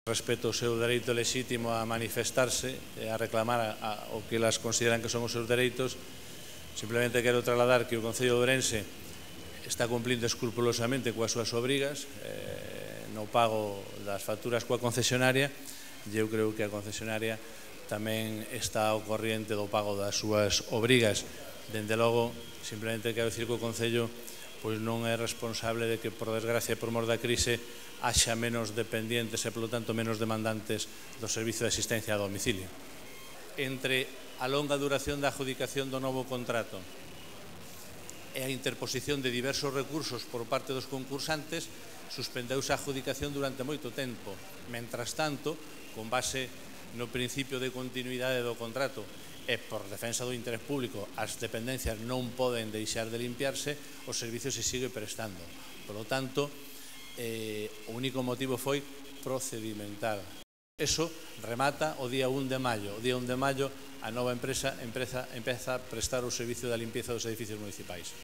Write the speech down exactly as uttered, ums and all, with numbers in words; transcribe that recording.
Respeto o seu dereito lexítimo a manifestarse e a reclamar a, a, o que elas consideran que son os seus dereitos. Simplemente quero trasladar que o Concello de Ourense está cumplindo escrupulosamente coas súas obrigas eh, no pago das facturas coa concesionaria, e eu creo que a concesionaria tamén está ao corriente do pago das súas obrigas. Dende logo, simplemente quero dicir que o Concello pois non é responsable de que, por desgracia e por mor da crise, haxa menos dependientes e, polo tanto, menos demandantes do servicio de asistencia a domicilio. Entre a longa duración da adjudicación do novo contrato e a interposición de diversos recursos por parte dos concursantes, suspendeuse a adjudicación durante moito tempo. Mentras tanto, con base no principio de continuidade do contrato e por defensa do interés público, as dependencias non poden deixar de limpiarse, o servicio se sigue prestando. Por lo tanto, eh, o único motivo foi procedimental. Eso remata o día un de maio. O día un de maio a nova empresa empeza, empeza a prestar o servicio da limpieza dos edificios municipais.